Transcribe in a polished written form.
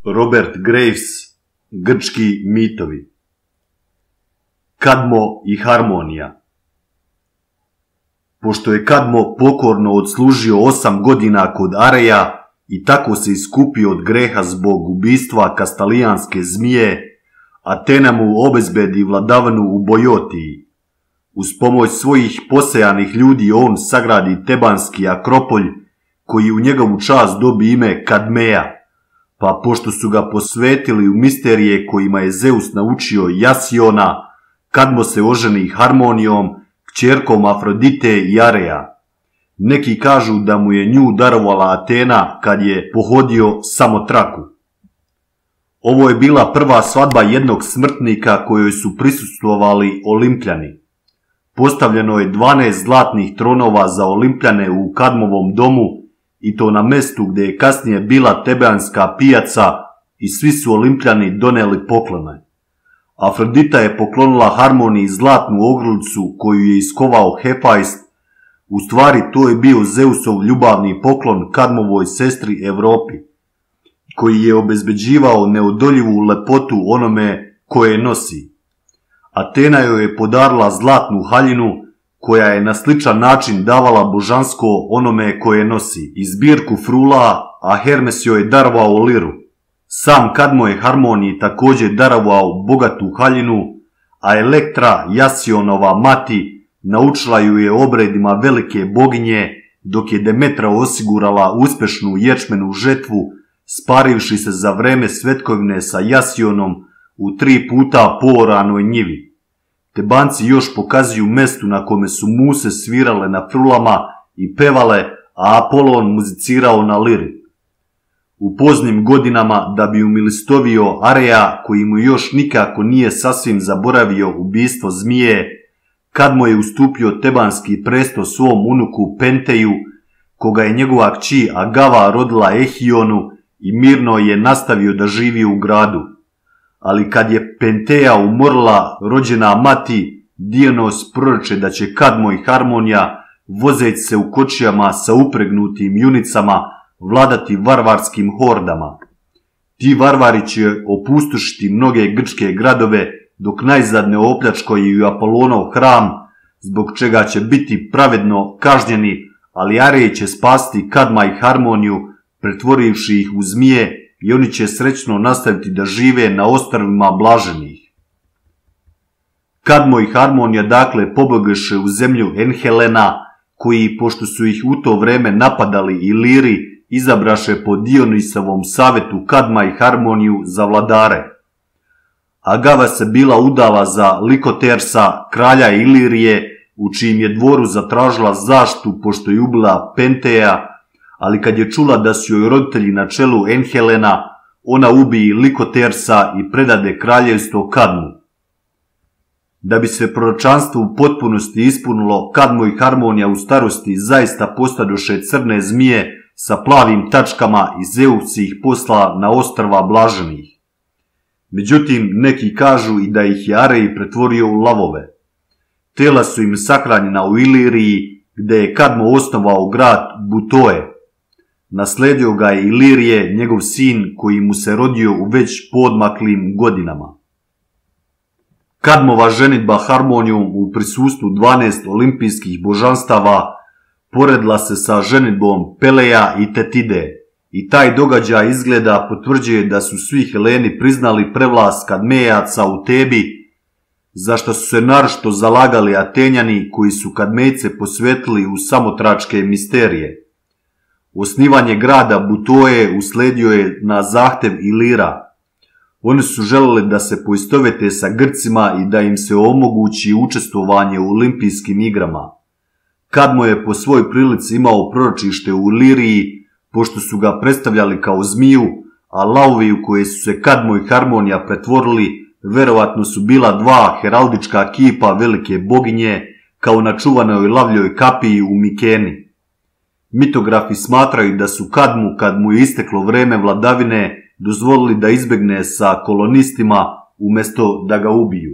Robert Graves, Grčki mitovi. Kadmo i Harmonija. Pošto je Kadmo pokorno odslužio 8 godina kod Areja i tako se iskupio od greha zbog ubistva kastalijanske zmije, Atena mu obezbedi vladavinu u Bojotiji. Uz pomoć svojih posejanih ljudi on sagradi Tebanski Akropolj, koji u njegovu čast dobi ime Kadmeja, pa pošto su ga posvetili u misterije kojima je Zeus naučio Jasiona, Kadmo se oženi Harmonijom, kćerkom Afrodite i Areja. Neki kažu da mu je nju darovala Atena kad je pohodio Samotraku. Ovo je bila prva svadba jednog smrtnika kojoj su prisustvovali Olimpljani. Postavljeno je 12 zlatnih tronova za Olimpljane u Kadmovom domu, i to na mestu gdje je kasnije bila Tebanska pijaca, i svi su Olimpljani doneli poklone. Afrodita je poklonila Harmoniji zlatnu ogrlicu koju je iskovao Hefajst. U stvari to je bio Zeusov ljubavni poklon Kadmovoj sestri Evropi, koji je obezbeđivao neodoljivu lepotu onome koje nosi. Atena joj je podarila zlatnu haljinu koja je na sličan način davala božansko onome koje nosi i zbirku frula, a Hermes joj je darovao liru. Sam Kadmo je Harmoniji također darovao bogatu haljinu, a Elektra, Jasionova mati, naučila ju je obredima velike boginje, dok je Demetra osigurala uspješnu ječmenu žetvu, sparivši se za vreme svetkovine sa Jasionom u 3 puta pooranoj njivi. Tebanci još pokazuju mestu na kome su muse svirale na frulama i pevale, a Apolon muzicirao na liri. U poznim godinama, da bi umilistovio Areja, koji mu još nikako nije sasvim zaboravio ubistvo zmije, Kadmo je ustupio tebanski presto svom unuku Penteju, koga je njegova kći Agava rodila Ehionu, i mirno je nastavio da živi u gradu. Ali kad je Penteja umrla, rođena mati, Dionos proroče da će Kadmo i Harmonija, vozeći se u kočijama sa upregnutim junicama, vladati varvarskim hordama. Ti varvari će opustošiti mnoge grčke gradove, dok najzad ne opljačkaju Apolonov hram, zbog čega će biti pravedno kažnjeni, ali Arej će spasti Kadma i Harmoniju, pretvorivši ih u zmije, i oni će srećno nastaviti da žive na ostrvima blaženih. Kadmo i Harmonija dakle pobjegoše u zemlju Enhelena, koji, pošto su ih u to vreme napadali Iliri, izabraše po Dionisovom savjetu Kadma i Harmoniju za vladare. Agava se bila udala za Likotersa, kralja Ilirije, u čijim je dvoru zatražila zaštitu pošto je ubila Penteja, ali kad je čula da su joj roditelji na čelu Enhelena, ona ubije Likotersa i predade kraljevstvo Kadmu. Da bi se proročanstvo u potpunosti ispunilo, Kadmo i Harmonija u starosti zaista postadoše crne zmije sa plavim tačkama i Zeus ih posla na ostrva blaženih. Međutim, neki kažu i da ih je Arej pretvorio u lavove. Tela su im sahranjena u Iliriji, gdje je Kadmo osnovao grad Butoe. Nasledio ga je Ilirije, njegov sin, koji mu se rodio u već poodmaklim godinama. Kadmova ženidba Harmonijom u prisustvu 12 olimpijskih božanstava poredila se sa ženidbom Peleja i Tetide, i taj događaj izgleda potvrđuje da su svi Heleni priznali prevlast Kadmejaca u Tebi, za što su se naročito zalagali Atenjani, koji su Kadmejce posvetili u samotračke misterije. Osnivanje grada Butoje usledio je na zahtev Ilira. Oni su želeli da se poistovete sa Grcima i da im se omogući učestvovanje u olimpijskim igrama. Kadmo je po svoj prilici imao proročište u Iliriji, pošto su ga predstavljali kao zmiju, a lavovi u koje su se Kadmo i Harmonija pretvorili verovatno su bila 2 heraldička kipa velike boginje, kao na čuvanoj lavljoj kapiji u Mikeni. Mitografi smatraju da su Kadmu, kad mu je isteklo vreme vladavine, dozvolili da izbjegne sa kolonistima umjesto da ga ubiju.